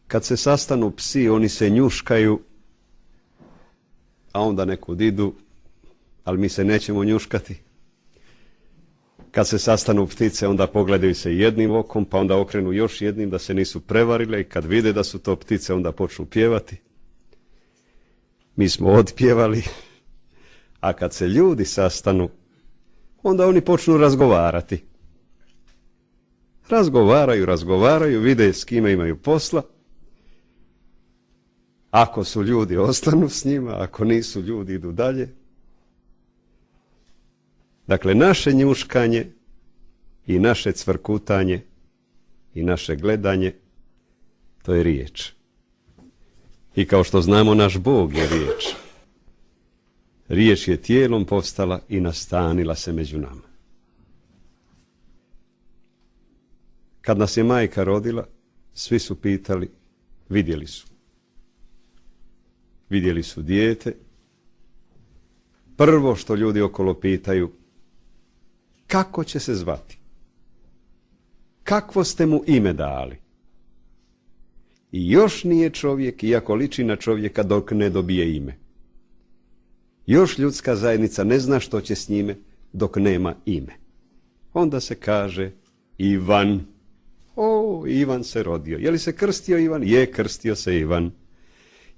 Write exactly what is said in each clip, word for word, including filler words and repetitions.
kad se sastanu psi, oni se njuškaju, a onda nekud idu, ali mi se nećemo njuškati. Kad se sastanu ptice, onda pogledaju se jednim okom, pa onda okrenu još jednim da se nisu prevarile i kad vide da su to ptice, onda počnu pjevati. Mi smo otpjevali, a kad se ljudi sastanu, onda oni počnu razgovarati. Razgovaraju, razgovaraju, vide s kime imaju posla. Ako su ljudi, ostanu s njima, ako nisu ljudi, idu dalje. Dakle, naše njuškanje i naše cvrkutanje i naše gledanje, to je riječ. I kao što znamo, naš Bog je riječ. Riječ je tijelom postala i nastanila se među nama. Kad nas je majka rodila, svi su pitali, vidjeli su. Vidjeli su dijete. Prvo što ljudi okolo pitaju, kako će se zvati? Kakvo ste mu ime dali? I još nije čovjek, iako liči na čovjeka, dok ne dobije ime. Još ljudska zajednica ne zna što će s njime dok nema ime. Onda se kaže Ivan. O, Ivan se rodio. Je li se krstio Ivan? Je, krstio se Ivan.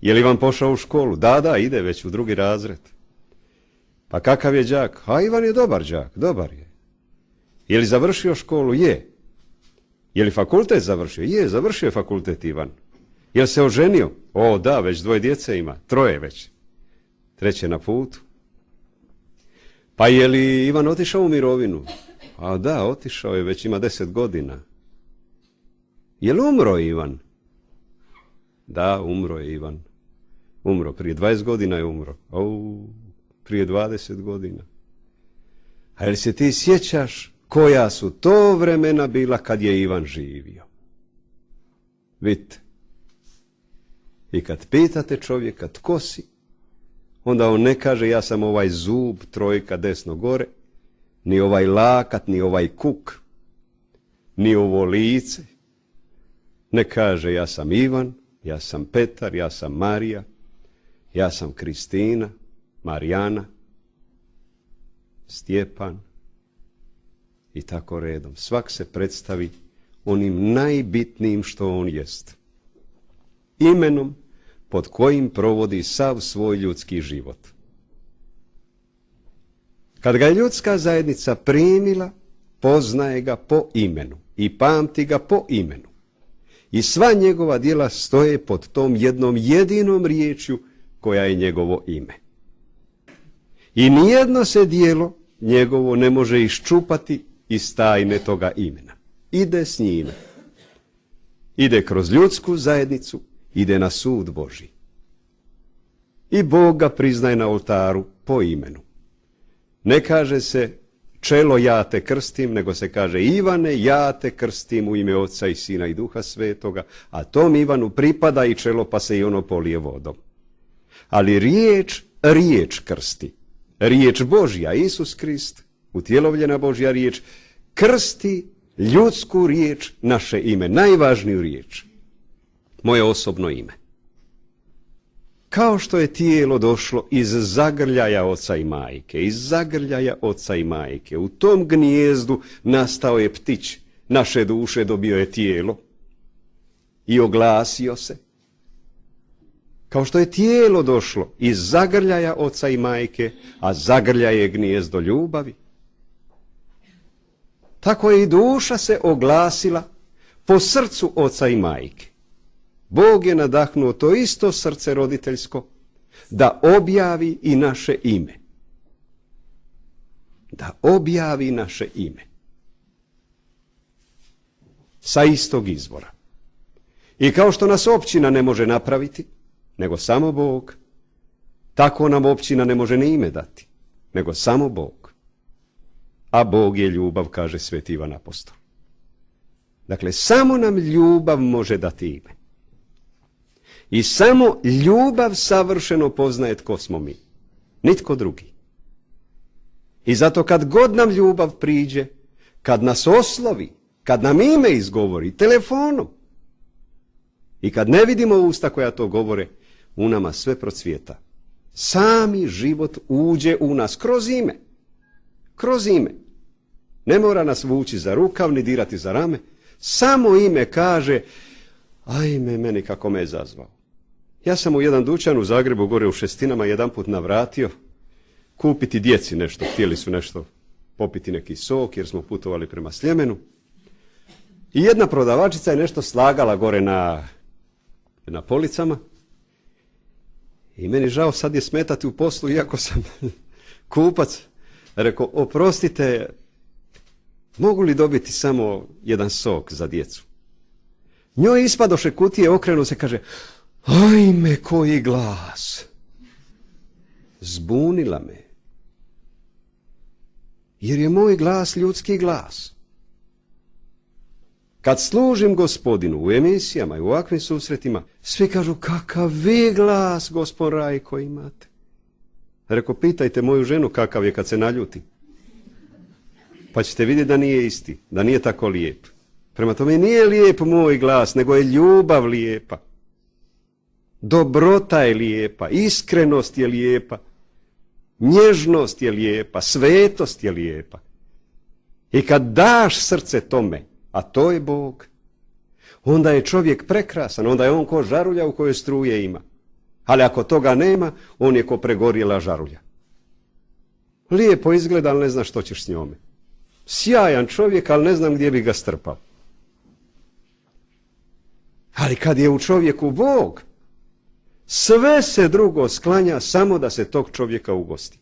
Je li Ivan pošao u školu? Da, da, ide već u drugi razred. Pa kakav je đak? A Ivan je dobar đak, dobar je. Je li završio školu? Je. Je li fakultet završio? Je, završio je fakultet Ivan. Je li se oženio? O, da, već dvoje djece ima, troje već. Treće na putu. Pa je li Ivan otišao u mirovinu? A da, otišao je, već ima deset godina. Je li umro Ivan? Da, umro je Ivan. Umro, prije dvadeset godina je umro. O, prije dvadeset godina. A jel se ti sjećaš koja su to vremena bila kad je Ivan živio? Vidite. I kad pitate čovjeka tko si, onda on ne kaže ja sam ovaj zub, trojka desno gore, ni ovaj lakat, ni ovaj kuk, ni ovo lice. Ne kaže ja sam Ivan, ja sam Petar, ja sam Marija, ja sam Kristina, Marijana, Stjepan i tako redom. Svak se predstavi onim najbitnijim što on jest. Imenom pod kojim provodi sav svoj ljudski život. Kad ga je ljudska zajednica primila, poznaje ga po imenu i pamti ga po imenu. I sva njegova djela stoje pod tom jednom jedinom riječju koja je njegovo ime. I nijedno se djelo njegovo ne može iščupati iz tajne toga imena. Ide s njime. Ide kroz ljudsku zajednicu, ide na sud Božji. I Bog ga priznaje na oltaru po imenu. Ne kaže se čelo ja te krstim, nego se kaže Ivane ja te krstim u ime Oca i Sina i Duha Svetoga, a tom Ivanu pripada i čelo pa se i ono polije vodom. Ali riječ, riječ krsti. Riječ Božja, Isus Krist, utjelovljena Božja riječ, krsti ljudsku riječ, naše ime, najvažniju riječ. Moje osobno ime. Kao što je tijelo došlo iz zagrljaja oca i majke, iz zagrljaja oca i majke, u tom gnijezdu nastao je ptić, naše duše dobio je tijelo i oglasio se. Kao što je tijelo došlo iz zagrljaja oca i majke, a zagrljaj je gnijezdo ljubavi, tako je i duša se oglasila po srcu oca i majke. Bog je nadahnuo to isto srce roditeljsko da objavi i naše ime. Da objavi naše ime. Sa istog izvora. I kao što nas općina ne može napraviti, nego samo Bog, tako nam općina ne može ni ime dati, nego samo Bog. A Bog je ljubav, kaže Sveti Ivan Apostol. Dakle, samo nam ljubav može dati ime. I samo ljubav savršeno poznaje tko smo mi. Nitko drugi. I zato kad god nam ljubav priđe, kad nas oslovi, kad nam ime izgovori telefonom, I kad ne vidimo usta koja to govore, u nama sve procvjeta. Sami život uđe u nas kroz ime. Kroz ime. Ne mora nas vući za rukav, ni dirati za rame. Samo ime kaže, ajme, meni kako me je zazvao. Ja sam u jedan dućan u Zagrebu, gore u Šestinama, jedanput navratio kupiti djeci nešto. Htjeli su nešto popiti neki sok, jer smo putovali prema Sljemenu. I jedna prodavačica je nešto slagala gore na, na policama. I meni žao sad je smetati u poslu, iako sam kupac. Rekao, oprostite, mogu li dobiti samo jedan sok za djecu? Njoj ispadoše kutije, okrenu se, kaže, ajme, koji glas. Zbunila me. Jer je moj glas ljudski glas. Kad služim Gospodinu u emisijama i u ovakvim susretima, svi kažu, kakav vi glas, gospod Rajko, imate. Rekao, pitajte moju ženu kakav je kad se naljuti. Pa ćete vidjeti da nije isti, da nije tako lijep. Prema tome nije lijep moj glas, nego je ljubav lijepa. Dobrota je lijepa, iskrenost je lijepa, nježnost je lijepa, svetost je lijepa. I kad daš srce tome, a to je Bog, onda je čovjek prekrasan, onda je on ko žarulja u kojoj struje ima. Ali ako toga nema, on je ko pregorjela žarulja. Lijepo izgleda, ali ne znaš što ćeš s njome. Sjajan čovjek, ali ne znam gdje bi ga strpao. Ali kad je u čovjeku Bog, sve se drugo sklanja samo da se tog čovjeka ugosti.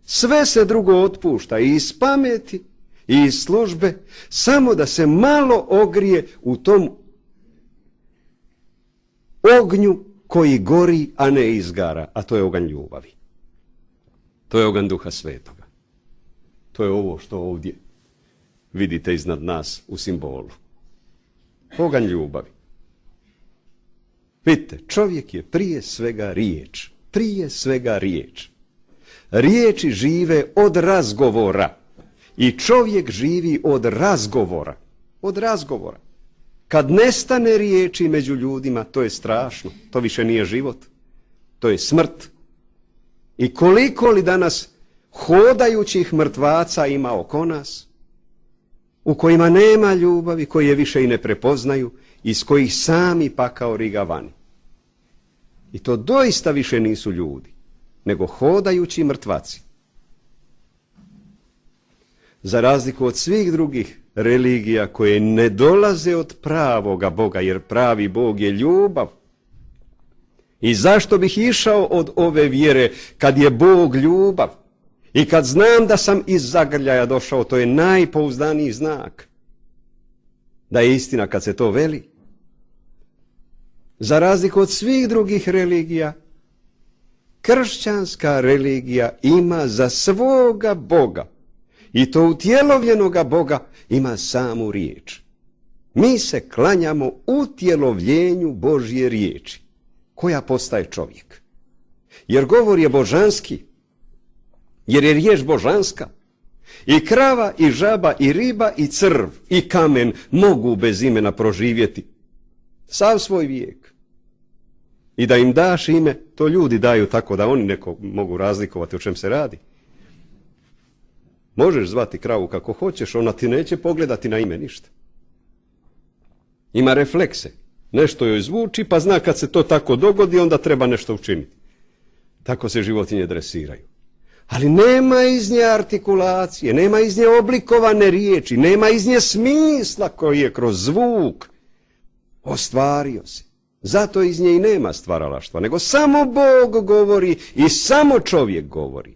Sve se drugo otpušta i iz pameti i iz službe, samo da se malo ogrije u tom ognju koji gori, a ne izgara, a to je oganj ljubavi. To je oganj Duha Svetoga. To je ovo što ovdje vidite iznad nas u simbolu. Oganj ljubavi. Vidite, čovjek je prije svega riječ. Prije svega riječ. Riječi žive od razgovora. I čovjek živi od razgovora. Od razgovora. Kad nestane riječi među ljudima, to je strašno. To više nije život. To je smrt. I koliko li danas hodajućih mrtvaca ima oko nas, u kojima nema ljubavi, koji je više i ne prepoznaju, iz kojih sami pakao riga vani. I to doista više nisu ljudi, nego hodajući mrtvaci. Za razliku od svih drugih religija koje ne dolaze od pravoga Boga, jer pravi Bog je ljubav. I zašto bih išao od ove vjere kad je Bog ljubav? I kad znam da sam iz zagrljaja došao, to je najpouzdaniji znak da je istina kad se to veli. Za razliku od svih drugih religija, kršćanska religija ima za svoga Boga, i to utjelovljenoga Boga, ima samu riječ. Mi se klanjamo utjelovljenju Božje riječi, koja postaje čovjek. Jer govor je božanski, jer je riječ božanska. I krava, i žaba, i riba, i crv, i kamen mogu bez imena proživjeti sav svoj vijek. I da im daš ime, to ljudi daju tako da oni neko mogu razlikovati o čem se radi. Možeš zvati kravu kako hoćeš, ona ti neće pogledati na ime ništa. Ima reflekse. Nešto joj zvuči, pa zna kad se to tako dogodi, onda treba nešto učiniti. Tako se životinje dresiraju. Ali nema iz nje artikulacije, nema iz nje oblikovane riječi, nema iz nje smisla koji je kroz zvuk ostvario se. Zato iz nje i nema stvaralaštva, nego samo Bog govori i samo čovjek govori.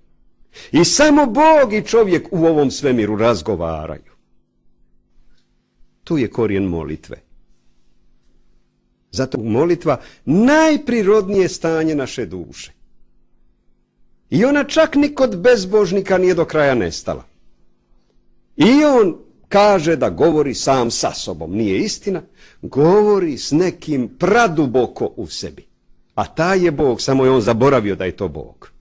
I samo Bog i čovjek u ovom svemiru razgovaraju. Tu je korijen molitve. Zato molitva najprirodnije stanje naše duše. I ona čak ni kod bezbožnika nije do kraja nestala. I on kaže da govori sam sa sobom. Nije istina. Govori s nekim praduboko u sebi. A taj je Bog, samo je on zaboravio da je to Bog.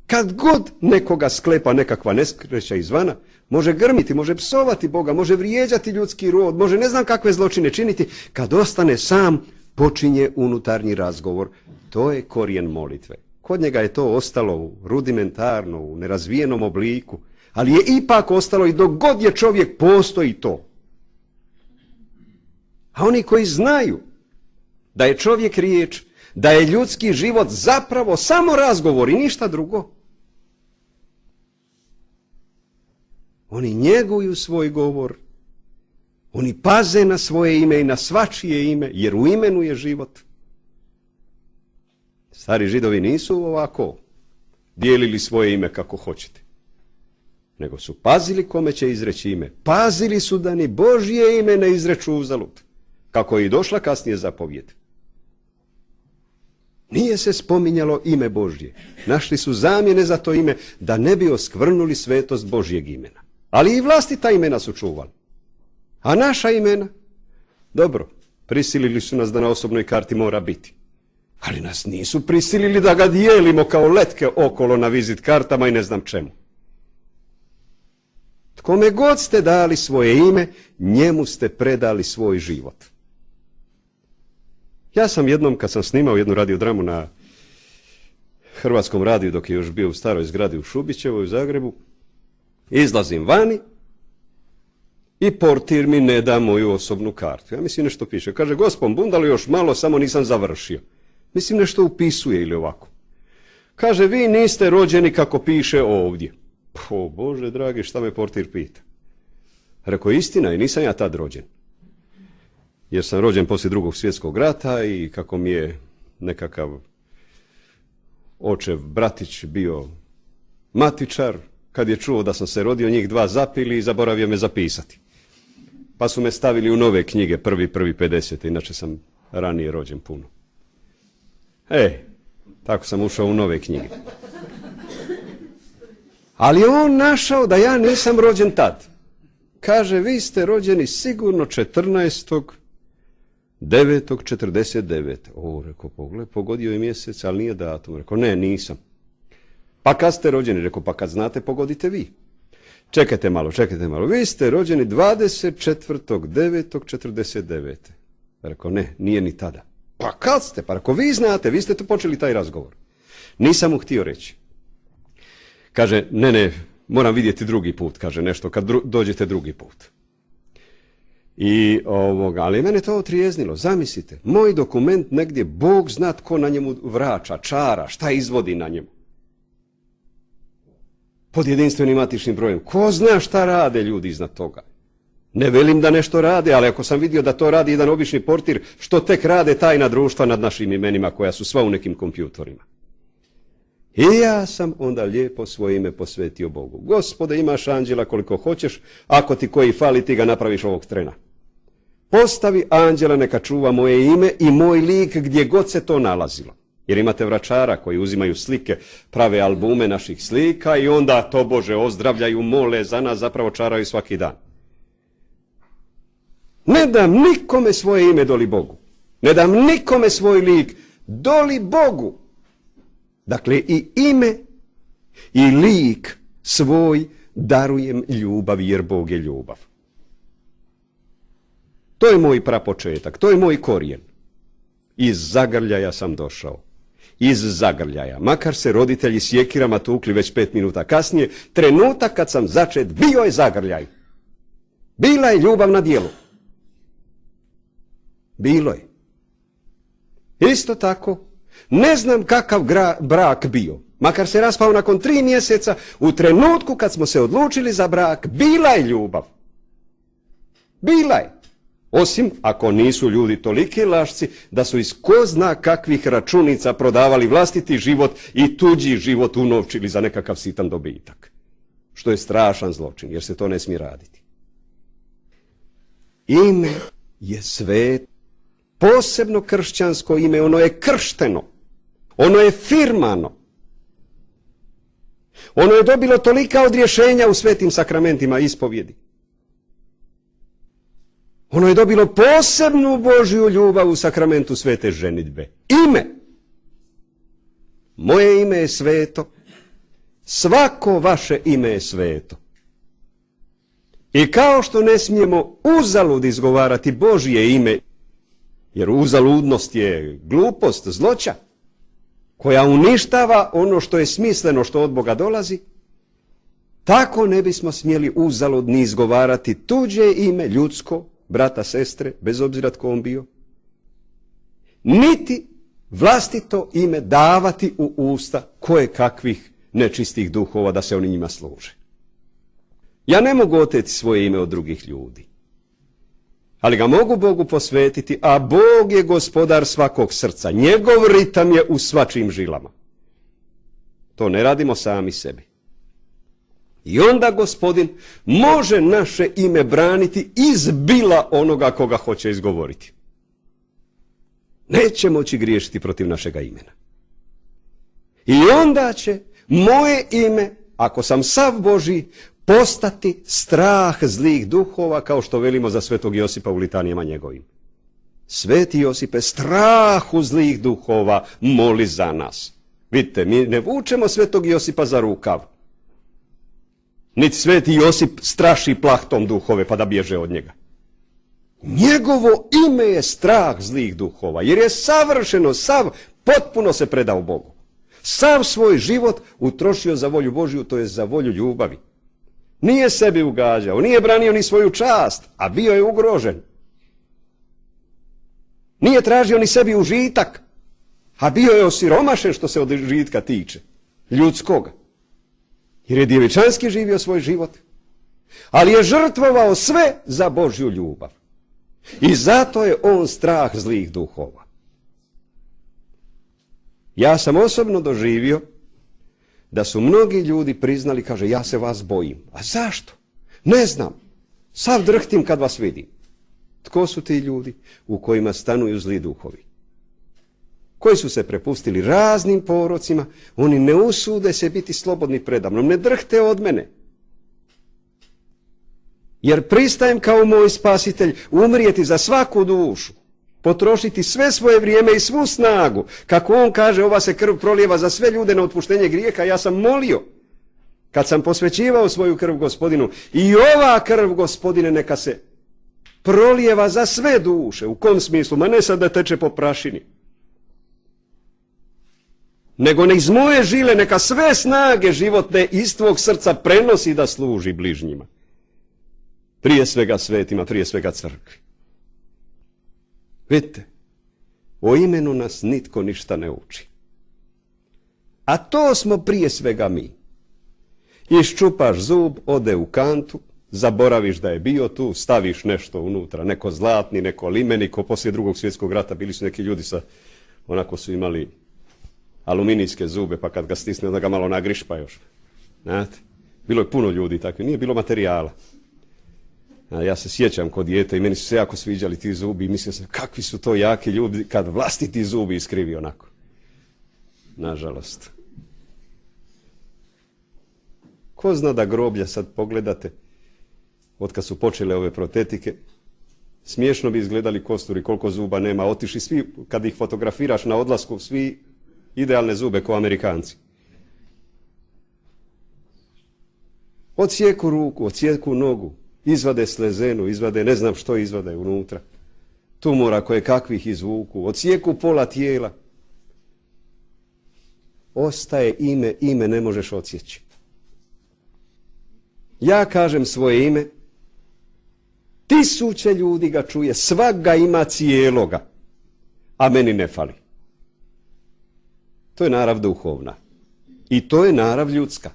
Kad god nekoga sklepa nekakva nesreća izvana, može grmiti, može psovati Boga, može vrijeđati ljudski rod, može ne znam kakve zločine činiti. Kad ostane sam, počinje unutarnji razgovor. To je korijen molitve. Kod njega je to ostalo u rudimentarno, u nerazvijenom obliku, ali je ipak ostalo i dok god je čovjek postoji to. A oni koji znaju da je čovjek riječ, da je ljudski život zapravo samo razgovor i ništa drugo, oni njeguju svoj govor, oni paze na svoje ime i na svačije ime, jer u imenu je život. Stari Židovi nisu ovako dijelili svoje ime kako hoćete, nego su pazili kome će izreći ime. Pazili su da ni Božje ime ne izreču uzalud, kako je i došla kasnije zapovijed. Nije se spominjalo ime Božje. Našli su zamjene za to ime da ne bi oskvrnuli svetost Božjeg imena. Ali i vlastita imena su čuvali. A naša imena? Dobro, prisilili su nas da na osobnoj karti mora biti. Ali nas nisu prisilili da ga dijelimo kao letke okolo na vizit kartama i ne znam čemu. Kome god ste dali svoje ime, njemu ste predali svoj život. Ja sam jednom, kad sam snimao jednu radiodramu na Hrvatskom radiju, dok je još bio u staroj zgradi u Šubićevoj u Zagrebu, izlazim vani i portir mi ne da moju osobnu kartu. Ja mislim nešto piše. Kaže, gospon Bundalu, još malo, samo nisam završio. Mislim nešto upisuje ili ovako. Kaže, vi niste rođeni kako piše ovdje. O Bože dragi, šta me portir pita? Rekao, istina je, nisam ja tad rođen. Jer sam rođen poslije drugog svjetskog rata i kako mi je nekakav očev bratić bio matičar, kad je čuo da sam se rodio, njih dva zapili i zaboravio me zapisati. Pa su me stavili u nove knjige, prvi, prvi, pedeset, inače sam ranije rođen puno. E, tako sam ušao u nove knjige. Ali on našao da ja nisam rođen tad. Kaže, vi ste rođeni sigurno četrnaestog devetog četrdeset devete. O, rekao, pogled, pogodio je mjesec, ali nije datum. Rekao, ne, nisam. Pa kad ste rođeni? Rekao, pa kad znate, pogodite vi. Čekajte malo, čekajte malo. Vi ste rođeni dvadeset četvrtog devetog četrdeset devete. Rekao, ne, nije ni tada. Pa kad ste? Pa rekao, vi znate, vi ste tu počeli taj razgovor. Nisam mu htio reći. Kaže, ne, ne, moram vidjeti drugi put, kaže nešto, kad dru- dođete drugi put. I ovoga, ali mene to otrijeznilo. Zamislite, moj dokument negdje, Bog zna tko na njemu vraća, čara, šta izvodi na njemu. Pod jedinstvenim matičnim brojem. Ko zna šta rade ljudi iznad toga? Ne velim da nešto rade, ali ako sam vidio da to radi jedan obični portir, što tek rade tajna društva nad našim imenima koja su sva u nekim kompjutorima. I ja sam onda lijepo svoje ime posvetio Bogu. Gospode, imaš anđela koliko hoćeš, ako ti koji fali, ti ga napraviš ovog trena. Postavi anđela neka čuva moje ime i moj lik gdje god se to nalazilo. Jer imate vračara koji uzimaju slike, prave albume naših slika i onda to Bože ozdravljaju, mole za nas, zapravo čaraju svaki dan. Ne dam nikome svoje ime doli Bogu. Ne dam nikome svoj lik doli Bogu. Dakle, i ime i lik svoj darujem ljubav, jer Bog je ljubav. To je moj prapočetak, to je moj korijen. Iz zagrljaja sam došao. Iz zagrljaja. Makar se roditelji sjekirama tukli već pet minuta kasnije, trenutak kad sam začet, bio je zagrljaj. Bila je ljubav na djelu. Bilo je. Isto tako, ne znam kakav gra, brak bio. Makar se raspao nakon tri mjeseca, u trenutku kad smo se odlučili za brak, bila je ljubav. Bila je. Osim ako nisu ljudi toliki lašci da su iz ko zna kakvih računica prodavali vlastiti život i tuđi život unovčili za nekakav sitan dobitak. Što je strašan zločin, jer se to ne smije raditi. Ime je svet. Posebno kršćansko ime, ono je kršteno. Ono je firmano. Ono je dobilo tolika odrješenja u svetim sakramentima ispovjedi. Ono je dobilo posebnu Božju ljubav u sakramentu svete ženidbe. Ime. Moje ime je sveto. Svako vaše ime je sveto. I kao što ne smijemo uzalud izgovarati Božje ime, jer uzaludnost je glupost, zloća, koja uništava ono što je smisleno, što od Boga dolazi, tako ne bismo smjeli uzalud ni izgovarati tuđe ime, ljudsko, brata, sestre, bez obzira tko on bio, niti vlastito ime davati u usta koje kakvih nečistih duhova da se oni njima služe. Ja ne mogu oteti svoje ime od drugih ljudi, ali ga mogu Bogu posvetiti, a Bog je gospodar svakog srca. Njegov ritam je u svačijim žilama. To ne radimo sami sebi. I onda Gospodin može naše ime braniti iz bila onoga koga hoće izgovoriti. Neće moći griješiti protiv našega imena. I onda će moje ime, ako sam sav Božji, postati strah zlih duhova, kao što velimo za svetog Josipa u litanijama njegovim. Sveti Josipe, strahu zlih duhova moli za nas. Vidite, mi ne vučemo svetog Josipa za rukav. Niti sveti Josip straši plahtom duhove pa da bježe od njega. Njegovo ime je strah zlih duhova, jer je savršeno, sav, potpuno se predao Bogu. Sav svoj život utrošio za volju Božju, to je za volju ljubavi. Nije sebi ugađao, nije branio ni svoju čast, a bio je ugrožen. Nije tražio ni sebi užitak, a bio je osiromašen što se od užitka tiče, ljudskoga. Jer je djevičanski živio svoj život, ali je žrtvovao sve za Božju ljubav. I zato je on strah zlih duhova. Ja sam osobno doživio da su mnogi ljudi priznali, kaže, ja se vas bojim. A zašto? Ne znam. Sav drhtim kad vas vidim. Tko su ti ljudi u kojima stanuju zli duhovi? Koji su se prepustili raznim porocima, oni ne usude se biti slobodni predamnom, ne drhte od mene. Jer pristajem kao moj spasitelj umrijeti za svaku dušu, potrošiti sve svoje vrijeme i svu snagu. Kako on kaže, ova se krv prolijeva za sve ljude na otpuštenje grijeha, ja sam molio, kad sam posvećivao svoju krv Gospodinu, i ova krv, Gospodine, neka se prolijeva za sve duše. U kom smislu? Ma ne sad da teče po prašini, nego ne iz moje žile neka sve snage životne iz tvog srca prenosi da služi bližnjima. Prije svega svetima, prije svega crkvi. Vidite, o imenu nas nitko ništa ne uči. A to smo prije svega mi. Iščupaš zub, ode u kantu, zaboraviš da je bio tu, staviš nešto unutra, neko zlatni, neko limeni, ko poslije drugog svjetskog rata bili su neki ljudi sa, onako su imali aluminijske zube, pa kad ga stisne, onda ga malo nagrišpa još. Znate? Bilo je puno ljudi takvi, nije bilo materijala. A ja se sjećam kod dijete i meni su se jako sviđali ti zubi i mislio sam kakvi su to jaki ljudi kad vlastiti zubi iskrivi onako. Nažalost. Ko zna da groblja sad pogledate, od kad su počele ove protetike, smiješno bi izgledali kosturi, koliko zuba nema, otišli svi, kad ih fotografiraš na odlasku, svi idealne zube ko Amerikanci. Odsjeku ruku, odsjeku nogu, izvade slezenu, izvade ne znam što izvade unutra. Tumora koje kakvih izvuku, odsjeku pola tijela. Ostaje ime, ime ne možeš odsjeći. Ja kažem svoje ime, tisuće ljudi ga čuje, svak ga ima cijeloga, a meni ne fali. To je narav duhovna. I to je narav ljudska.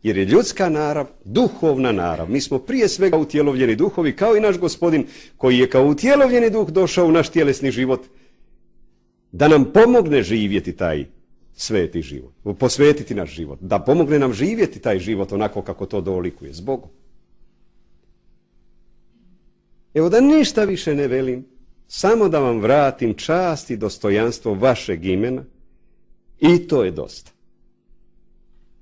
Jer je ljudska narav duhovna narav. Mi smo prije svega utjelovljeni duhovi, kao i naš Gospodin, koji je kao utjelovljeni duh došao u naš tjelesni život, da nam pomogne živjeti taj sveti život, posvetiti naš život, da pomogne nam živjeti taj život onako kako to dolikuje s Bogom. Evo da ništa više ne velim, samo da vam vratim čast i dostojanstvo vašeg imena, i to je dosta.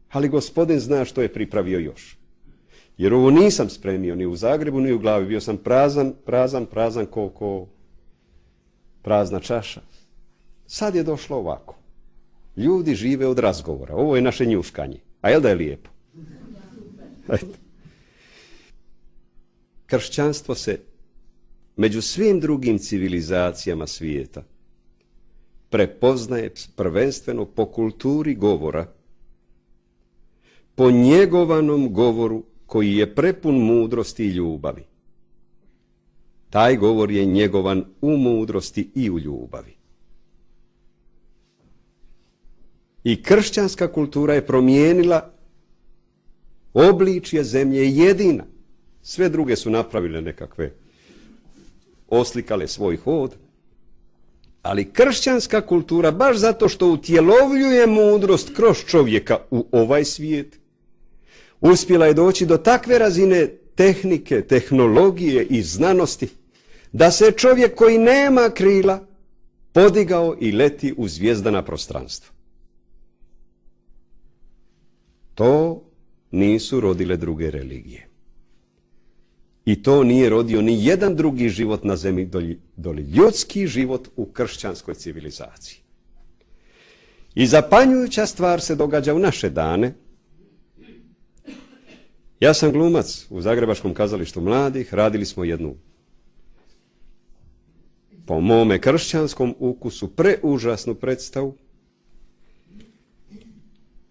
Ali Gospodin zna što je pripravio još. Jer ovo nisam spremio ni u Zagrebu, ni u glavi. Bio sam prazan, prazan, prazan ko, ko prazna čaša. Sad je došlo ovako. Ljudi žive od razgovora. Ovo je naše njuškanje. A jel da je lijepo? kršćanstvo se među svim drugim civilizacijama svijeta prepoznaje prvenstveno po kulturi govora, po njegovanom govoru koji je prepun mudrosti i ljubavi. Taj govor je njegovan u mudrosti i u ljubavi. I kršćanska kultura je promijenila obličje zemlje jedina. Sve druge su napravile nekakve, oslikale svoj hod, ali kršćanska kultura, baš zato što utjelovljuje mudrost kroz čovjeka u ovaj svijet, uspjela je doći do takve razine tehnike, tehnologije i znanosti, da se čovjek koji nema krila podigao i leti u zvijezdana prostranstva. To nisu rodile druge religije. I to nije rodio ni jedan drugi život na zemlji doli, doli ljudski život u kršćanskoj civilizaciji. I zapanjujuća stvar se događa u naše dane. Ja sam glumac u Zagrebačkom kazalištu mladih, radili smo jednu, po mome kršćanskom ukusu, preužasnu predstavu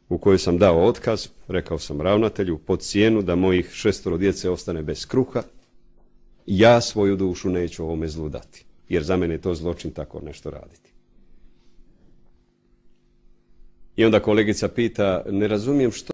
u kojoj sam dao otkaz, rekao sam ravnatelju, pod cijenu da mojih šestoro djece ostane bez kruha, ja svoju dušu neću ovome zlu dati, jer za mene je to zločin tako nešto raditi. I onda kolegica pita, ne razumijem što